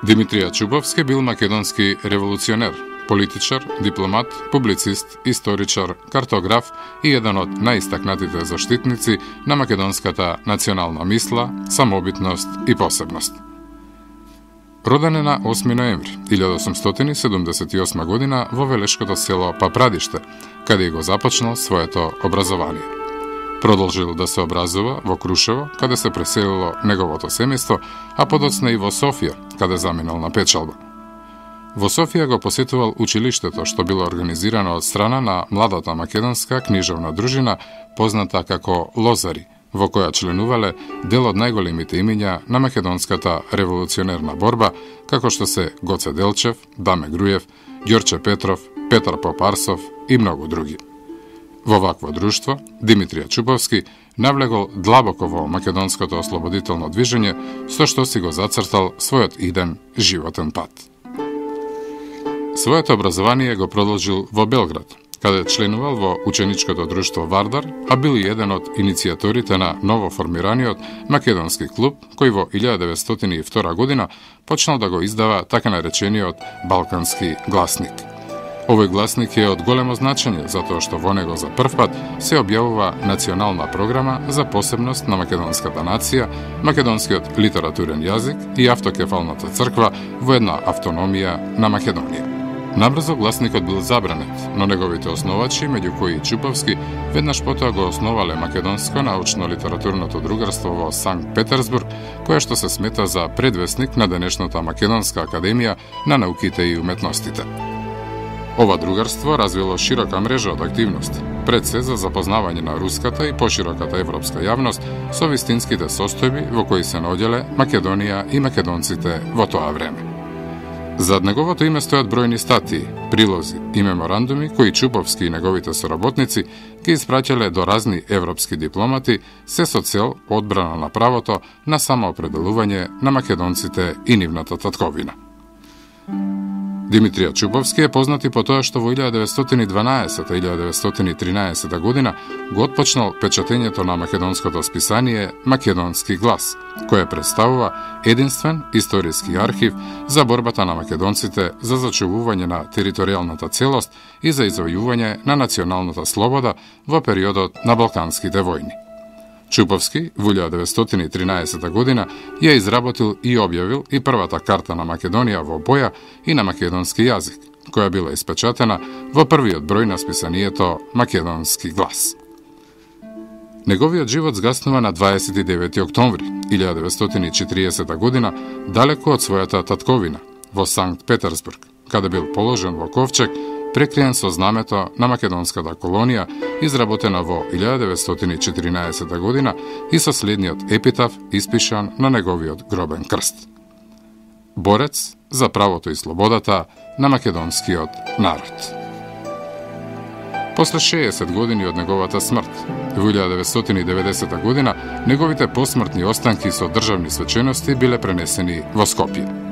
Димитрија Чубовски бил македонски револуционер, политичар, дипломат, публицист, историчар, картограф и еден од најистакнатите заштитници на македонската национална мисла, самобитност и посебност. Роден е на 8 ноември 1878 година во велешкото село Папрадиште, каде го започнал своето образование. Продолжил да се образува во Крушево, каде се преселило неговото семејство, а подоцна и во Софија, каде заминал на печалба. Во Софија го посетувал училиштето, што било организирано од страна на младата македонска книжевна дружина, позната како Лозари, во која членувале дел од најголемите имиња на македонската револуционерна борба, како што се Гоце Делчев, Даме Груев, Ѓорче Петров, Петар Попарсов и многу други. Во вакво друштво, Димитрија Чубовски навлегол длабоко во македонското ослободително движење, со што си го зацртал својот иден животен пат. Своето образование го продолжил во Белград, каде членувал во ученичкото друштво Вардар, а бил и еден од иницијаторите на новоформираниот македонски клуб, кој во 1902 година почнал да го издава така наречениот Балкански гласник. Овој гласник е од големо значење, затоа што во него за прв пат се објавува национална програма за посебност на македонската нација, македонскиот литературен јазик и автокефалната црква во една автономија на Македонија. Набрзо гласникот бил забранет, но неговите основачи, меѓу кои и Чубовски, веднаш потоа го основале Македонско научно-литературното другарство во Санкт Петерсбург, кое што се смета за предвесник на денешната Македонска академија на науките и уметностите. Ова другарство развило широка мрежа од активности, пред се за запознавање на руската и пошироката европска јавност со вистинските состојби во кои се наоѓале Македонија и македонците во тоа време. Зад неговото име стојат бројни статии, прилози и меморандуми кои Чубовски и неговите соработници ги испраќале до разни европски дипломати, се со цел одбрана на правото на самоопределување на македонците и нивната татковина. Димитрија Чубовски е познат и по тоа што во 1912-1913 година го отпочнал печатењето на македонското списание Македонски глас, кое представува единствен историски архив за борбата на македонците за зачувување на територијалната целост и за извојување на националната слобода во периодот на Балканските војни. Чубовски во 1913 година ја изработил и објавил и првата карта на Македонија во боја и на македонски јазик, која била испечатена во првиот број на списанието Македонски глас. Неговиот живот згаснува на 29 октомври 1940 година, далеко од својата татковина, во Санкт Петерсбург, каде бил положен во ковчег, прекриен со знамето на македонската колонија, изработена во 1914 година и со следниот епитаф испишан на неговиот гробен крст. Борец за правото и слободата на македонскиот народ. После 60 години од неговата смрт, во 1990 година, неговите посмртни останки со државни свечености биле пренесени во Скопје.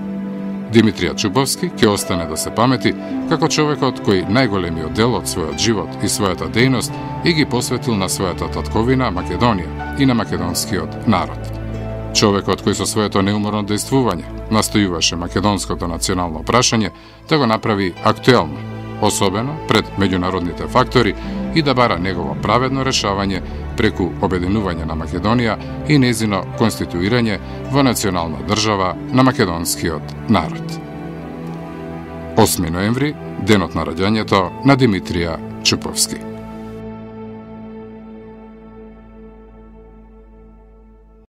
Димитрија Чубовски ќе остане да се памети како човекот кој најголемиот дел од својот живот и својата дејност и ги посветил на својата татковина Македонија и на македонскиот народ. Човекот кој со своето неуморно дејствување настојуваше македонското национално прашање да го направи актуелно, особено пред меѓународните фактори и да бара негово праведно решавање преку обединување на Македонија и незино конституирање во национална држава на македонскиот народ. 8 ноември, денот на раѓањето на Димитрија Чубовски.